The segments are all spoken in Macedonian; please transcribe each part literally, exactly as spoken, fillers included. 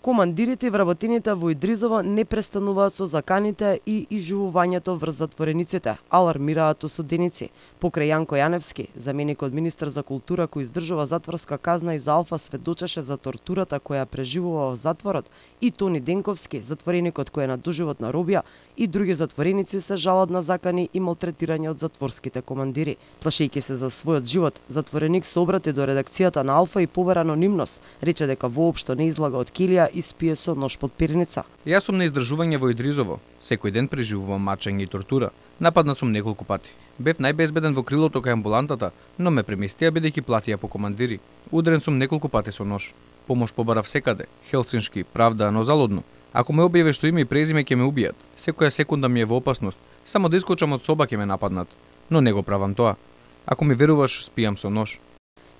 Командирите и вработените во Идризово не престануваат со заканите и изживувањето врз затворениците, алармираат осуденици. Покрај Јанко Јаневски, заменик од министар за култура кој издржува затворска казна и за Алфа, сведочеше за тортурата која преживува во затворот, и Тони Денковски, затвореникот кој е на доживотна робија, и други затвореници се жалат на закани и малтретирање од затворските командири. Плашејќи се за својот живот, затвореник се обрати до редакцијата на Алфа и побара анонимност. Рече дека воопшто не излага од килија и спие со нож под перница. Јас сум на издржување во Идризово. Секој ден преживувам мачење и тортура. Нападнат сум неколку пати. Бев најбезбеден во крилото кај амбулантата, но ме преместија бидејќи платија по командири. Удрен сум неколку пати со нож. Помош побарав секаде, Хелсиншки, Правда, но залудно. Ако ме објавиш со име и презиме ќе ме убијат. Секоја секунда ми е во опасност. Само да искочам од соба ќе ме нападнат. Но не го правам тоа. Ако ми веруваш, спијам со нож.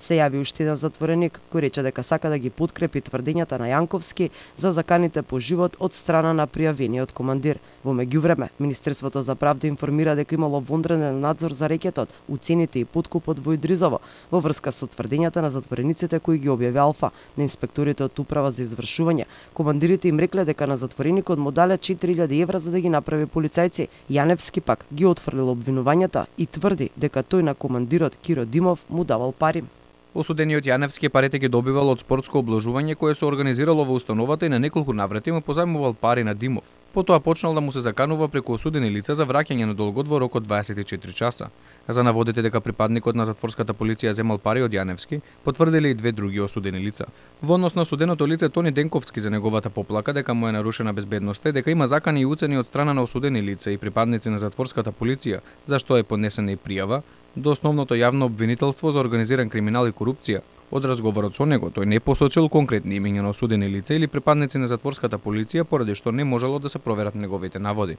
Се јави уште еден затвореник кој рече дека сака да ги подкрепи тврдењата на Јанковски за заканите по живот од страна на пријавениот командир. Во меѓувреме, Министерството за правда информира дека имало вонреден надзор за рекетот, уцените и подкупот во Идризово во врска со тврдењата на затворениците кои ги објави Алфа. На инспекторите од Управа за извршување, командирите им рекле дека на затвореникот му дале четири илјади евра за да ги направи полицајци. Јаневски пак ги отфрлил обвинувањата и тврди дека тој на командирот Киро Димов му давал пари. Осудениот Јаневски парите ги добивал од спортско обложување кое се организирало во установата и на неколку наврати му позајмувал пари на Димов. Потоа почнал да му се заканува преку осудени лица за враќање на долгот во рок од дваесет и четири часа. За наводите дека припадникот на затворската полиција земал пари од Јаневски, потврдиле и две други осудени лица. Во однос на осуденото лице Тони Денковски за неговата поплака дека му е нарушена безбедноста и дека има закани и уцени од страна на осудени лица и припадници на затворската полиција, за што е поднесена и пријава до основното јавно обвинителство за организиран криминал и корупција. Од разговорот со него, тој не посочил конкретни имиња на осудени лица или припадници на затворската полиција, поради што не можело да се проверат неговите наводи.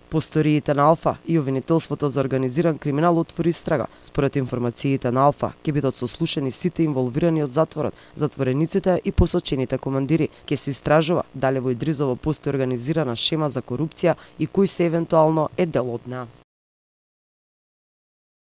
По сториите на Алфа и обвинителството за организиран криминал отвори истрага. Според информациите на Алфа, ќе бидат сослушани сите инволвирани од затворот, затворениците и посочените командири. Ќе се истражува дали во Идризово постои организирана шема за корупција и кој се евентуално е дел од неа.